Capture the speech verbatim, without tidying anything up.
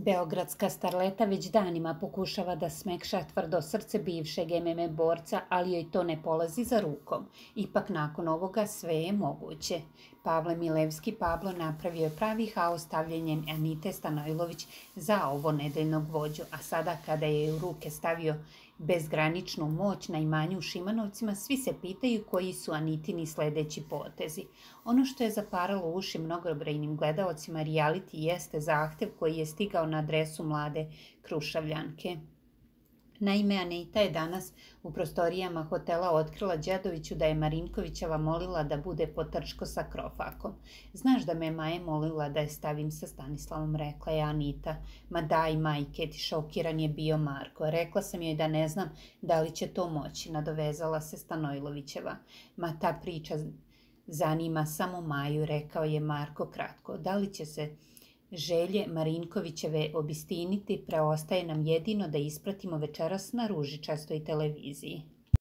Beogradska starleta već danima pokušava da smekša tvrdo srce bivšeg M M A borca, ali joj to ne polazi za rukom. Ipak nakon ovoga sve je moguće. Pavle Milevski Pablo napravio je pravi haos stavljanjem Anite Stanojlović za ovo nedeljnog vođu, a sada kada je u ruke stavio bezgraničnu moć na imanju u Šimanovcima, svi se pitaju koji su Anitini sledeći potezi. Ono što je zaparalo uši mnogobrojnim gledaocima reality jeste zahtev koji je stigao na adresu mlade Krušavljanke. Naime, Anita je danas u prostorijama hotela otkrila Đedoviću da je Marinkovićeva molila da bude potrčko sa Krofakom. Znaš da me Maja molila da je stavim sa Stanislavom, rekla je Anita. Ma daj, majke, ti šokiran je bio Marko. Rekla sam joj da ne znam da li će to moći, nadovezala se Stanojlovićeva. Ma ta priča zanima samo Maju, rekao je Marko kratko. Da li će se želje Marinkovićeve obistiniti, preostaje nam jedino da ispratimo večeras na ružičastoj televiziji.